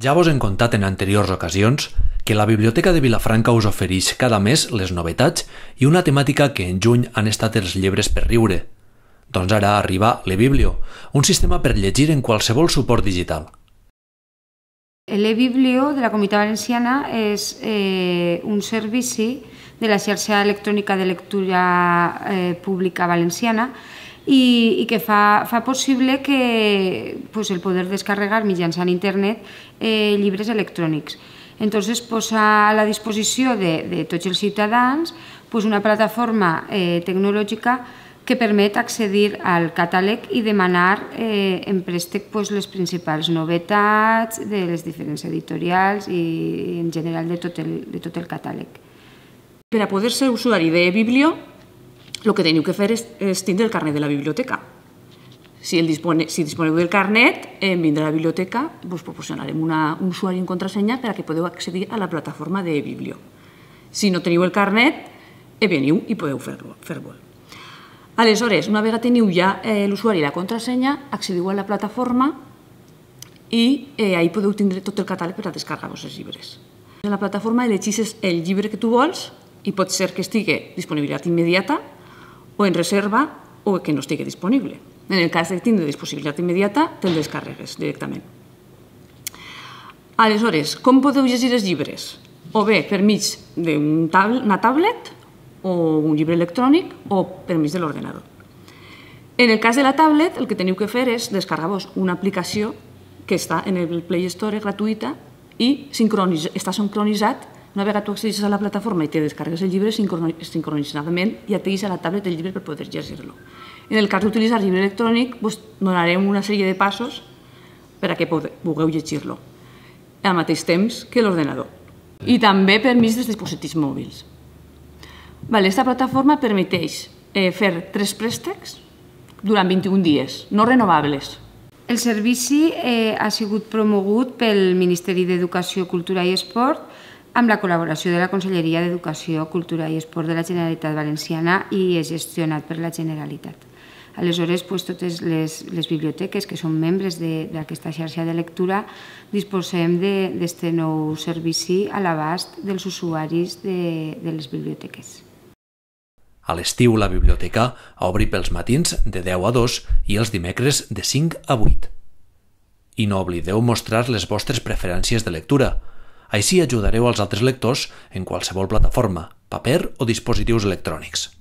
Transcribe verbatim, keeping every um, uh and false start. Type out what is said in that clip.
Ja vos hem contat en anteriors ocasions que la Biblioteca de Vilafranca us ofereix cada mes les novetats i una temàtica que en juny han estat els llibres per riure. Doncs ara arriba l'eBiblio, un sistema per llegir en qualsevol suport digital. L'eBiblio de la Comunitat Valenciana és eh, un servici de la xarxa electrònica de lectura eh, pública valenciana i, i que fa, fa possible que, pues, el poder descarregar mitjançant internet eh, llibres electrònics. Entonces posa a la disposició de, de tots els ciutadans pues, una plataforma eh, tecnològica que permet accedir al catàleg i demanar eh, en préstec pues, les principals novetats de les diferents editorials i en general de tot el, de tot el catàleg. Per a poder ser usuari d'eBiblio, el que teniu que fer és, és tindre el carnet de la biblioteca. Si, el dispone, si disponeu del carnet, en vindre a la biblioteca us proporcionarem una, un usuari i contrasenya per a que podeu accedir a la plataforma d'eBiblio. Si no teniu el carnet, veniu i podeu fer-lo. Fer-lo. Aleshores, una vegada teniu ja eh, l'usuari i la contrasenya, accediu a la plataforma i eh, ahí podeu tindre tot el catàleg per a descarregar-vos els llibres. En la plataforma elegeixes el llibre que tu vols i pot ser que estigui disponibilitat immediata o en reserva o que no estigui disponible. En el cas de tindre disponibilitat immediata, te'l descarregues directament. Aleshores, com podeu llegir els llibres? O bé per mig d'una tablet o un llibre electrònic o per mig de l'ordenador. En el cas de la tablet, el que teniu que fer és descarregar-vos una aplicació que està en el Play Store gratuïta i està sincronitzat. Una vegada tu accedeixes a la plataforma i te descarregues el llibre sincronitzadament i et deixa a la tablet el llibre per poder llegir-lo. En el cas d'utilitzar el llibre electrònic, donarem una sèrie de passos per a que pugueu llegir-lo al mateix temps que l'ordenador. I també per mig dels dispositius mòbils. Aquesta plataforma permeteix fer tres préstecs durant vint-i-un dies, no renovables. El servici eh, ha sigut promogut pel Ministeri d'Educació, Cultura i Esport amb la col·laboració de la Conselleria d'Educació, Cultura i Esport de la Generalitat Valenciana i és gestionat per la Generalitat. Aleshores, pues, totes les, les biblioteques que són membres d'aquesta xarxa de lectura disposem d'aquest nou servici a l'abast dels usuaris de, de les biblioteques. A l'estiu la biblioteca obri pels matins de deu a dos i els dimecres de cinc a vuit. I no oblideu mostrar les vostres preferències de lectura. Així ajudareu als altres lectors en qualsevol plataforma, paper o dispositius electrònics.